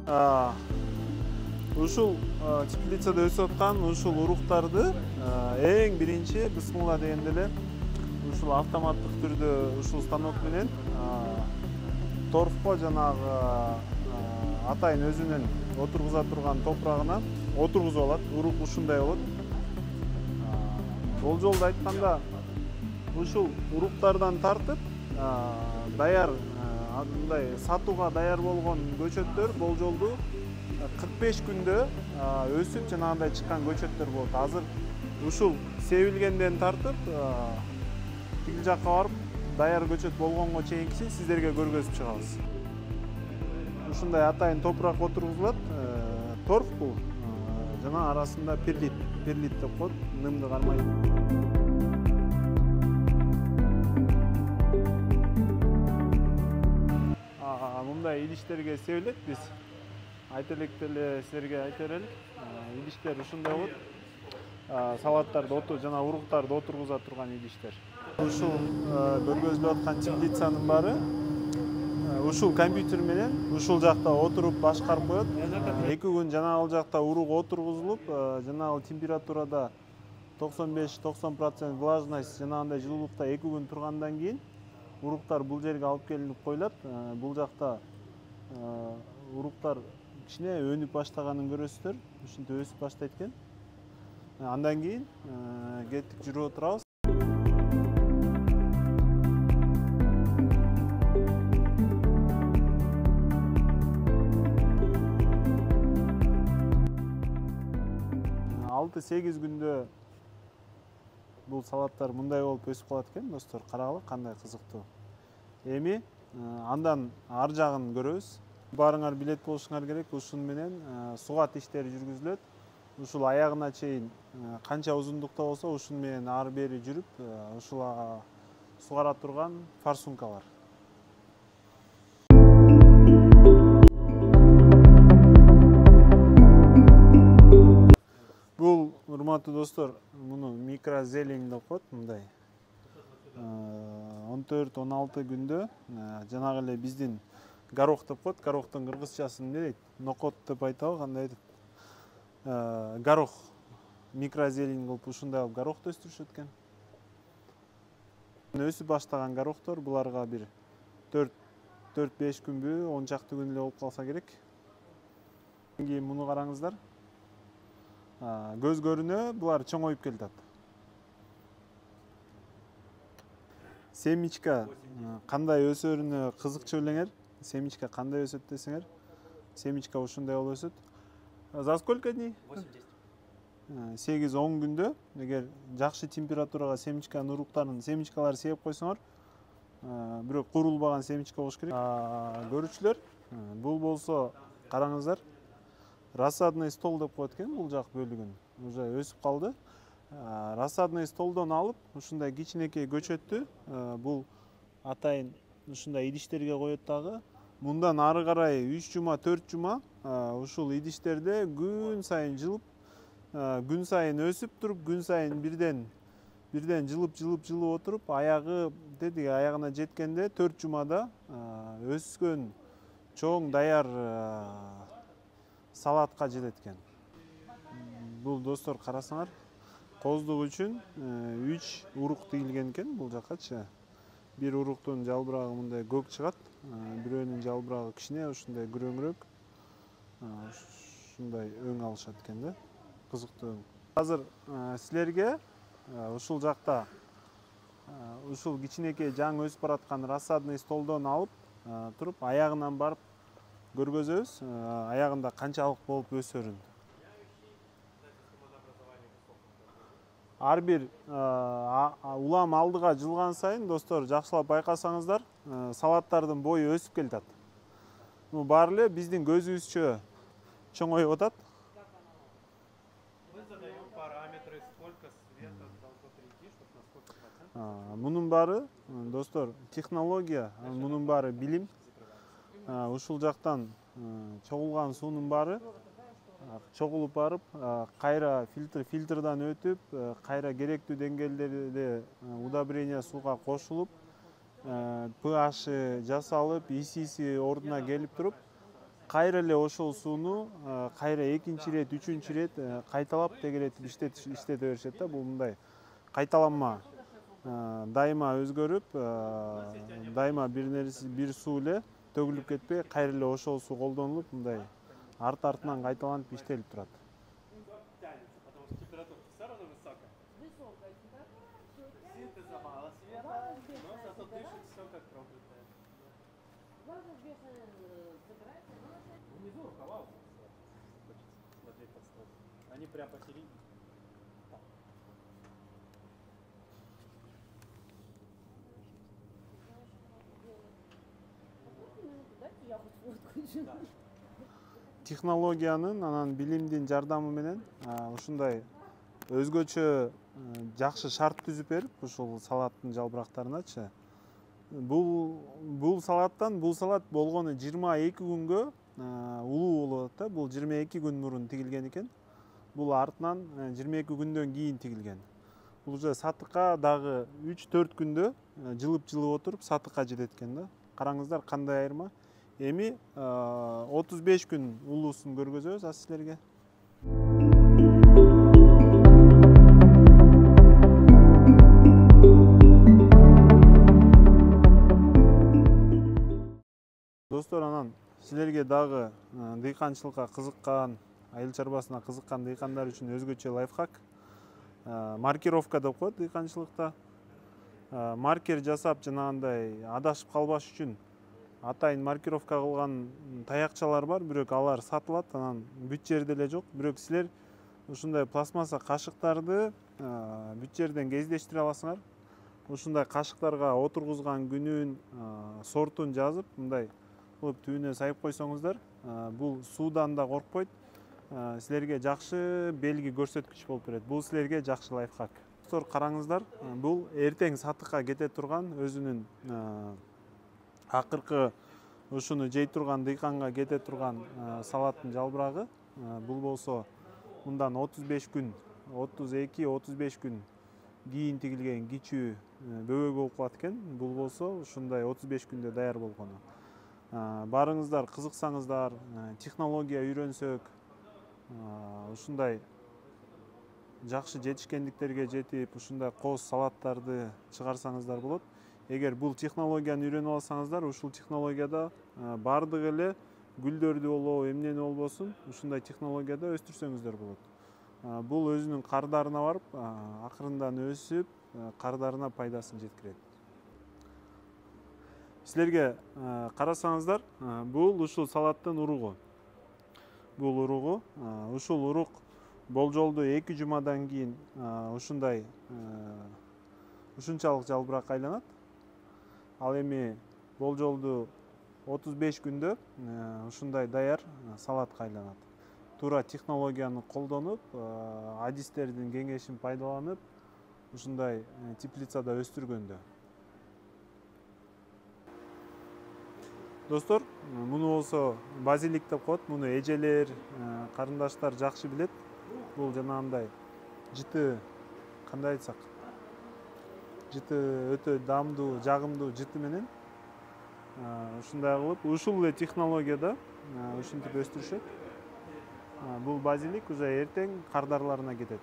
Ушул теплицада өсүп аткан ушул уруктарды эң биринчи бисмилла дегенде эле ушул автоматтык түрдө ушул станок менен торфко жанагы атайын өзүнүн отургуза турган топурагына отургузуп алат. Урук ушундай болот. Болжолду айтканда ушул уруктардан тартып даяр мындай сатууга даяр болгон көчөттөр болжолду 45 күндө өсүп жанагындай чыккан көчөттөр болот. Азыр ушул себилгенден тартып тиги жакка барып даяр көчөт болгонго чейинкисин сиздерге көргөзүп чыгабыз. Ушундай атайын топурак отургузулат. Торф бул жана арасында перлит деп коет, нымды кармайт. Мындай идиштерге себилет. Биз айта электе эле силерге айта берелик. Идиштер ушундай болот. Салаттарды жана уруктарды отургуза турган идиштер. Ушул көргөзүлүп аткан теплицанын баары ушул компьютер менен ушул жакта отуруп башкарып коет. 2 күн жанагыл жакта урук отургузулуп, жанагыл температурада 95-90% влажность жанагындай жылуулукта 2 күн тургандан кийин уруктар бул жерге алып келинип коюлат. Бул жакта уруктар кичине өнүп баштаганын көрөсүздөр. Ушинтип өсүп баштайт экен. Андан кийин кеттик жүрүп отурабыз. Алты 8 күндө бул салаттар мындай болуп өсүп калат экен, достор. Карагыла кандай кызыктуу. Эми андан ар жагын көрөбүз. Баарыңар билет болушуңар керек. Ушун менен сугат иштери жүргүзүлөт. Ушул аягына чейин канча узундукта болсо, ушун менен ары бери жүрүп, ушул сугара турган форсункалар. Бул, урматтуу достор, муну микрозелень деп коет, мындай. 14-16 күндө жанагы эле биздин горох деп коет. Горохтун кыргызчасы эмне дейт? Нокот деп айтабы, кандай деп? Горох, микрозелень кылып ушундай кылып горохту өстүрүшөт экен. Өсүп баштаган горохтор буларга бир 4-5 күнбү, 10 чакты күн эле болуп калса керек. Кийин муну караңыздар. Көз көрүнө булар чоңоюп келатат. Семечка кандай өсөрүнө кызыкчу элеңер. Семечка кандай өсөт десеңер. Семечка ушундай болуп өсөт. За сколько дней? 8-10 күндө эгер жакшы температурага семечканын уруктарын, семечкаларды себип койсоңор, бирок куурулбаган семечка болуш керек. Көрүүчүлөр, бул болсо караңыздар. Рассадный стол деп коет экен бул жак бөлүгүн. Уже өсүп калды. Рассадный столдон алып, ушундай кичинекей көчөттү бул атайын ушундай идиштерге коет дагы. Мындан ары карай 3 жума, 4 жума ушул идиштерде күн сайын жылып, күн сайын өсүп туруп, күн сайын бирден жылып отуруп, аягы деди, аягына жеткенде 4 жумада өскөн чоң даяр салатка жетет экен. Бул достор карасаңар, коздук үчүн 3 урук тигилген экен бул жаккачы. Бир уруктун жалбырагы мындай көк чыгат, бирөөнүн жалбырагы кичине ушундай күрөңүрөөк. Ушундай өң алышат экен да. Кызыктуу өң. Азыр силерге ушул жакта ушул кичинекей жаңы өсүп бараткан рассадный столдон алып туруп, аягынан барып көргөзөбүз. Аягында канчалык болуп өсөрүн. Ар бир улам алдыга жылган сайын, достор, жакшылап байкасаңыздар, салаттардын бою өсүп келатат. Бул баары эле биздин көзүбүзчө чоңоюп атат. Мунун баары, достор, технология, мунун баары билим. Ушул жактан чогулган суунун баары чогулуп барып, кайра фильтрдан өтүп, кайра керектүү деңгээлдерде удобрение сууга кошулуп, pH жасалып, исиси ордуна келип туруп, кайра эле ошол сууну кайра экинчи ирет, үчүнчү ирет кайталап тегелетип иштете беришет да. Бул мындай кайталанма дайыма өзгөрүп, дайыма бир суу эле төгүлүп кетпей, кайра эле ошол суу колдонулуп, мындай артынан кайталанып иштелип турат. Они прям посередине. Технологиянын, анан билимдин жардамы менен ушундай өзгөчө жакшы шарт түзүп берип, ушул салаттын жалбырактарыначы. Бул салат болгону 22 күнгө улуу болот да. Бул 22 күн мурун тигилген экен. Бул артынан 22 күндөн кийин тигилген. Бул уже сатыкка дагы 3-4 күндө жылып отуруп сатыкка жетет экен да. Караңыздар кандай айырма. Эми 35 күн улуусун көргөзөбүз азыр силерге. Достор, анан силерге дагы дыйканчылыкка кызыккан, айыл чарбасына кызыккан дыйкандар үчүн өзгөчө лайфхак. Маркировка деп коет дыйканчылыкта. Маркер жасап, жанагындай адашып калбаш үчүн атайын маркировка кылган таякчалар бар, бирок алар сатылат, анан бүт жерде эле жок. Бирок силер ушундай пластмасса кашыктарды бүт жерден кездештире аласыңар. Ушундай кашыктарга отургузган күнүн, сортун жазып, мындай кылып түбүнө сайып койсоңуздар, бул суудан да коркпойт. Силерге жакшы белги көрсөткүч болуп берет. Бул силерге жакшы лайфхак. Достор, караңыздар, бул эртең сатыкка кете турган, өзүнүн акыркы ушуну жей турган дыйканга кете турган салаттын жалбырагы. Бул болсо мындан 35 күн, 32-35 күн кийин тигилген кичүү бөбөк болуп калат экен. Бул болсо ушундай 35 күндө даяр болгону. Барыңыздар, кызыксаңыздар, технология үйрөнсөк, ушундай жакшы жетишкендиктерге жетип, ушундай кооз салаттарды чыгарсаңыздар болот. Эгер бул технологияны үйрөнүп алсаңыздар, ушул технологияда бардыгы эле гүлдөрдү болобу, эмнени болбосун, ушундай технологияда өстүрсөңүздөр болот. Бул өзүнүн кардарына барып, акырындан өсүп, кардарына пайдасын жеткирет. Силерге карасаңыздар, бул ушул салаттын уругу. Бул уругу, ушул урук болжолду 2 жумадан кийин ушунчалык жалбырак айланат. Ал эми болжолду 35 күндө ушундай даяр салатка айланат. Туура технологияны колдонуп, адистердин кеңешин пайдаланып, ушундай теплицада өстүргөндө. Достор, муну болсо базилик деп коет. Муну эжелер, карындаштар жакшы билет. Бул жанагындай жыты, кандай айтсак, жыты өтө дамдуу, жагымдуу жыты менен ушундай кылып, ушул эле технологияда ушинтип өстүрүшөт. Бул базилик уже эртең кардарларына кетет.